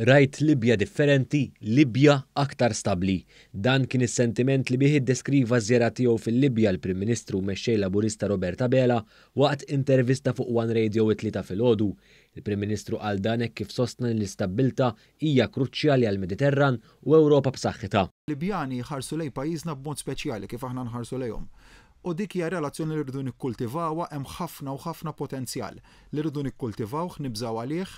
Rajt Libja differenti, Libja aktar stabbli. Dan kien is-sentiment li bih iddeskriva ż-żjara tiegħu fil-Libja l-Prim Ministru u Mexxej Laburista Robert Abela waqt intervista fuq One Radio it-Tlieta filgħodu. Il-Prim Ministru qal dan hekk kif sostna li l-istabbiltà hija kruċjali għall-Mediterran u Ewropa b'saħħitha. Libjani jħarsu lejn pajjiżna b'mod speċjali kif aħna nħarsu lejhom. U dik hija relazzjoni li rridu nikkultivawha, hemm ħafna u ħafna potenzjal li rridu nikkultivawh, nibżgħu għalih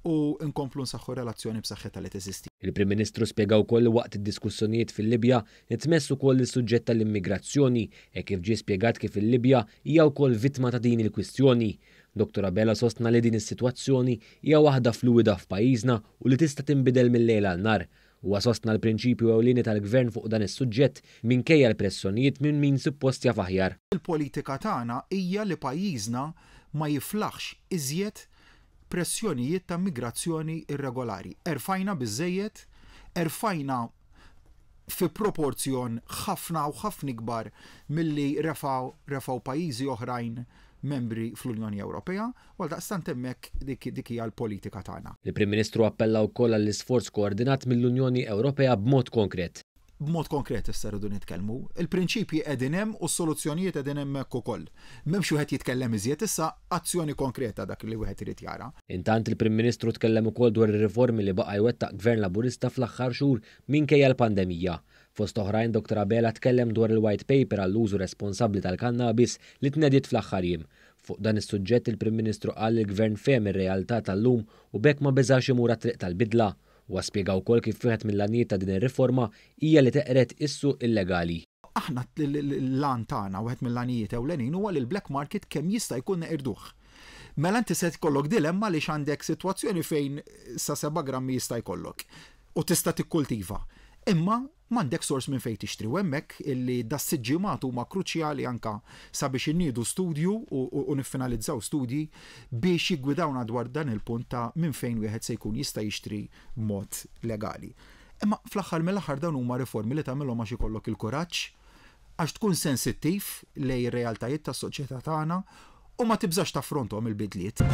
u nkomplu nsaħħu r-relazzjoni b'saħħitha li teżisti. Il-Prim Ministru spjega wkoll li waqt id-diskussjonijiet fil-Libja ntmess ukoll is-suġġett tal-immigrazzjoni hekk kif ġie spjegat kif il-Libja hija wkoll vittma ta' din il-kwistjoni. Dottor Abela sostna li din is-sitwazzjoni hija waħda fluwida f'pajjiżna u li tista' tinbidel mil-lejl għal nhar. Huwa sostna l-prinċipju ewlieni tal-Gvern fuq dan is-suġġett minkejja l-pressjonijiet minn min suppost jaf aħjar. Il-politika tagħna hija li pajjiżna ma jiflaħx iżjed pressjonijiet ta' immigrazzjoni irregolari. Erfajna biżżejjed, erfajna fi proporzjon ħafna u ħafna ikbar milli refgħu refgħu pajjiżi oħrajn membri fl-Unjoni Ewropea u għaldaqstant hemmhekk dik dik hija l-politika tagħna. Il-Prim Ministru appella wkoll għall-isforz koordinat mill-Unjoni Ewropea b'mod konkret. B'mod konkret issa rridu nitkellmu. Il-prinċipji qegħdin hemm u s-soluzzjonijiet qegħdin hemmhekk ukoll. M'hemmx wieħed jitkellem iżjed issa, azzjoni konkreta dak li wieħed irid jara. Intant il-Prim Ministru tkellem ukoll dwar ir-riformi li baqa' jwettaq Gvern Laburista fl-aħħar xhur minkejja l-pandemija. Fost oħrajn Dottor Abela tkellem dwar il-White Paper għall-użu responsabbli tal-kannabis li tnediet fl-aħħar jiem. Fuq dan is-suġġett il-Prim Ministru qal li l-Gvern fehem ir-realtà tal-lum u b'hekk ma beżax imur għat-triq tal-bidla. Huwa spjega wkoll kif wieħed mill-għanijiet ta' din ir-riforma hija li teqred is-suq illegali. Aħna l-għan tagħna, wieħed mill-għanijiet ewlenin huwa li l-black market kemm jista' jkun neqirduh. Mela inti se jkollok dilemma għaliex għandek sitwazzjoni fejn sa 7 grammi jista' jkollok u tista' tikkultiva. Imma m'għandekx sors minn fejn tixtri u hemmhekk illi das-sitt ġimgħat huma kruċjali anke sabiex inniedu studju u niffinalizzaw studji biex jiggwidawna dwar dan il-punt ta' minn fejn wieħed se jkun jista' jixtri b'mod legali. Imma fl-aħħar mill-aħħar dawn huma riformi li tagħmilhom għax ikollok il-kuraġġ, għax tkun sensittiv lejn ir-realtajiet tas-soċjetà tagħna u ma tibżax taffronthom il-bidliet.